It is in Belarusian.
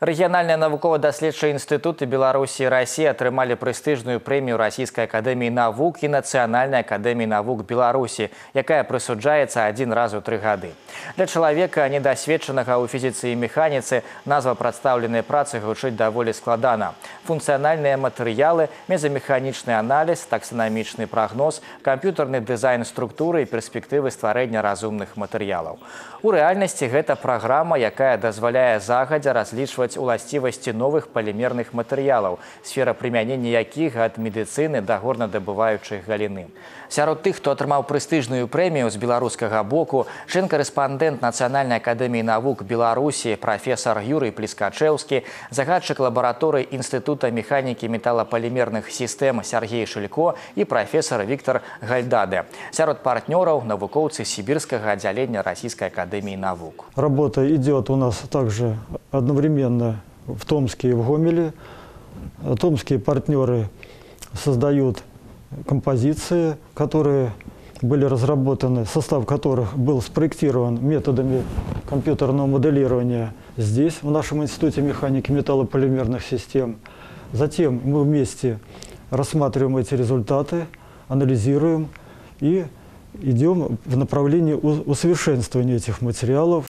Рэгіянальныя навукова-даследчыя інстытуты Беларусі і Расіі атрымалі прэстыжную прэмію Расійскай акадэміі навук і Нацыянальнай акадэміі навук Беларусі, якая прысуджаецца адзін раз у 3 гады. Для чалавека, недасведчанага ў фізіцы і механіцы, назва прадстаўленай працы гучыць даволі складана. Функцыянальныя матэрыялы, мезамеханічны аналіз, таксанамічны прагноз, камп'ютарны дызайн структуры і перспектывы стварэння разумных матэрыялаў. У рэальнасці гэта праграма, якая дазваляе загадзя разлічваць уласцівасці новых палімерных матэрыялаў, сфера прымянення якіх ад медыцыны да горнадабываючай галіны. Сярод тых, хто атрымаў прэстыжную прэмію з беларускага боку, член-карэспандэнт Нацыянальнай акадэміі навук Беларусі, прафесар Юрый Плескачэўскі, загадчык лабараторыі Інстытута механікі металапалімерных сістэм Сергей Шилько і прафесар Виктор Гальдаде. Сярод партнёраў навукоўцы сібірскага аддзялення Расійскай акадэміі навук. Работа идет у нас также одновременно в Томске и в Гомеле. Томские партнеры создают композиции, которые были разработаны, состав которых был спроектирован методами компьютерного моделирования здесь, в нашем Институте механики металлополимерных систем. Затем мы вместе рассматриваем эти результаты, анализируем и идем в направлении усовершенствования этих материалов.